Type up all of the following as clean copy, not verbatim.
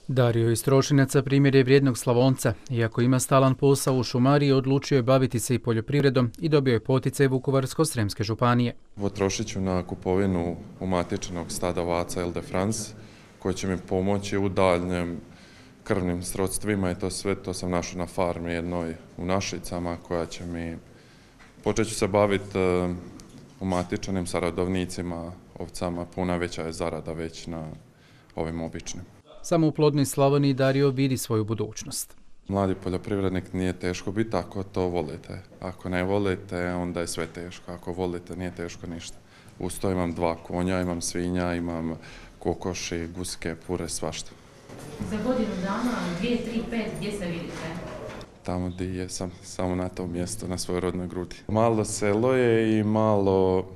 Dario iz Trošinaca primjer je vrijednog Slavonca. Iako ima stalan posao u šumariji, odlučio je baviti se i poljoprivredom i dobio je poticaj Vukovarsko-srijemske županije. Potrošit ću na kupovinu umatičenog stada ovaca Ile de France, koji će mi pomoći u daljnjem krvnim srodstvima i to sve to sam našao na farmi jednoj u Našicama koja će mi... Počet ću se baviti umatičenim sa rodovnicima, ovcama, puno veća je zarada već na ovim običnim. Samo u plodnoj Slavoniji Dario vidi svoju budućnost. Mladi poljoprivrednik nije teško biti ako to volite. Ako ne volite, onda je sve teško. Ako volite, nije teško ništa. Uz to imam 2 konja, imam svinja, imam kokoši, guske, pure, svašta. Za godinu dana, 2, 3, 5, gdje se vidite? Tamo gdje jesam, samo na tom mjestu, na svojoj rodnoj grudi. Malo selo je i malo...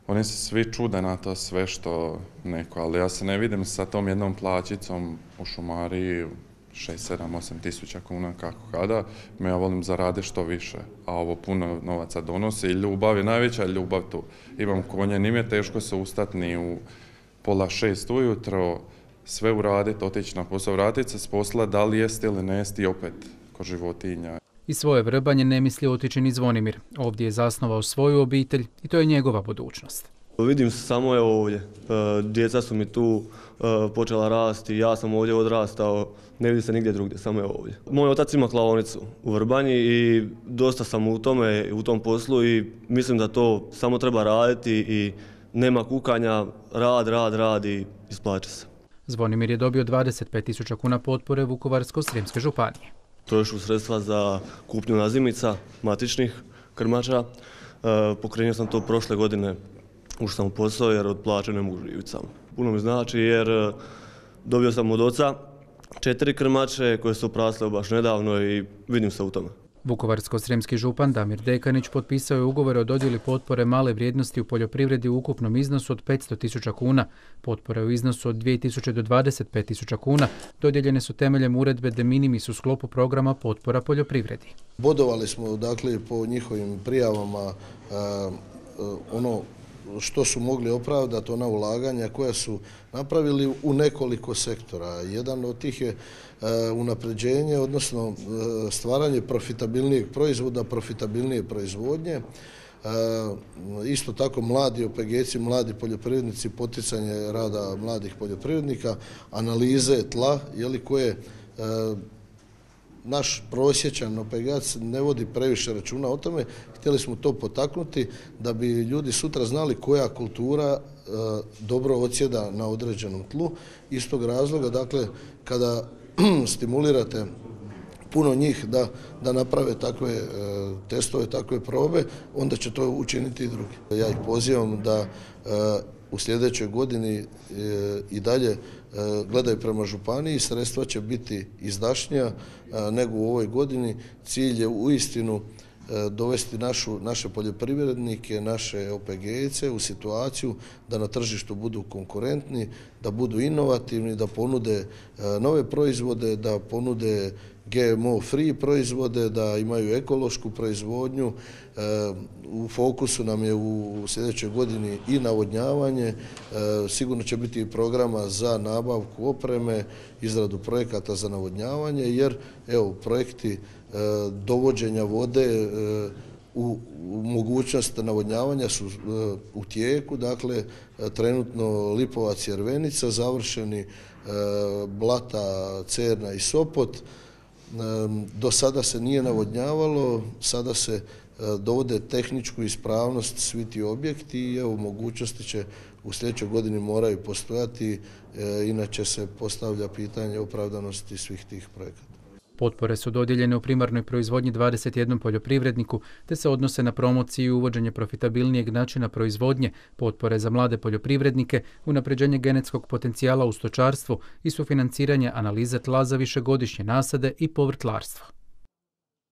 Oni se svi čude na to sve što neko, ali ja se ne vidim sa tom jednom plaćicom u šumariji 6, 7, 8 tisuća kuna kako kada. Ja volim zaraditi što više, a ovo puno novaca donosi i ljubav je najveća ljubav tu. Imam konje, nije mi teško se ustati ni u 5:30 ujutro, sve uraditi, otići na posao, vratiti se s posla, da li jesti ili ne jesti i opet ko životinja. I svoje vrbanje ne misli otići ni Zvonimir. Ovdje je zasnovao svoju obitelj i to je njegova budućnost. Vidim se samo ovdje. Djeca su mi tu počela rasti, ja sam ovdje odrastao, ne vidim se nigdje drugdje, samo ovdje. Moj otac ima klaonicu u Vrbanji i dosta sam u tom poslu i mislim da to samo treba raditi i nema kukanja, rad i isplaća se. Zvonimir je dobio 25.000 kuna potpore Vukovarsko-srijemske županije. Trošu sredstva za kupnju nazimica, matičnih krmača. Pokrenuo sam to prošle godine, ušao sam u posao jer od plaće ne mogu živjeti sam. Puno mi znači jer dobio sam od oca 4 krmače koje su prasle baš nedavno i vidim se u tome. Vukovarsko-srijemski župan Damir Dekanić potpisao je ugovor o dodjeli potpore male vrijednosti u poljoprivredi u ukupnom iznosu od 500.000 kuna. Potpore u iznosu od 2.000 do 25.000 kuna dodijeljene su temeljem uredbe de minimis u sklopu programa potpora poljoprivredi. Bodovali smo dakle po njihovim prijavama ono što su mogli opravdati, ona ulaganja koja su napravili u nekoliko sektora. Jedan od tih je unapređenje, odnosno stvaranje profitabilnijeg proizvoda, profitabilnije proizvodnje. Isto tako mladi OPG-ci, mladi poljoprivrednici, poticanje rada mladih poljoprivrednika, analize tla, koje naš prosječan OPG-ac ne vodi previše računa o tome. Htjeli smo to potaknuti da bi ljudi sutra znali koja kultura dobro odsjeda na određenom tlu. Iz tog razloga, dakle, kada stimulirate puno njih da naprave takve testove, takve probe, onda će to učiniti i drugi. Ja ih pozivam da u sljedećoj godini i dalje gledaju prema županiji, sredstva će biti izdašnija nego u ovoj godini. Cilj je uistinu dovesti naše poljoprivrednike, naše OPG-ice u situaciju da na tržištu budu konkurentni, da budu inovativni, da ponude nove proizvode, da ponude GMO free proizvode, da imaju ekološku proizvodnju. U fokusu nam je u sljedećoj godini i navodnjavanje, sigurno će biti i programa za nabavku opreme, izradu projekata za navodnjavanje, jer projekti dovođenja vode u mogućnost navodnjavanja su u tijeku, dakle trenutno Lipovac i Jervenica, završeni Blata, Cerna i Sopot. Do sada se nije navodnjavalo, sada se dovode tehničku ispravnost svi ti objekti i mogućnosti će u sljedećoj godini moraju postojati, inače se postavlja pitanje opravdanosti svih tih projekata. Potpore su dodijeljene u primarnoj proizvodnji 21 poljoprivredniku, te se odnose na promociju i uvođenje profitabilnijeg načina proizvodnje, potpore za mlade poljoprivrednike, unapređenje genetskog potencijala u stočarstvu i sufinanciranje analize tla za višegodišnje nasade i povrtlarstvo.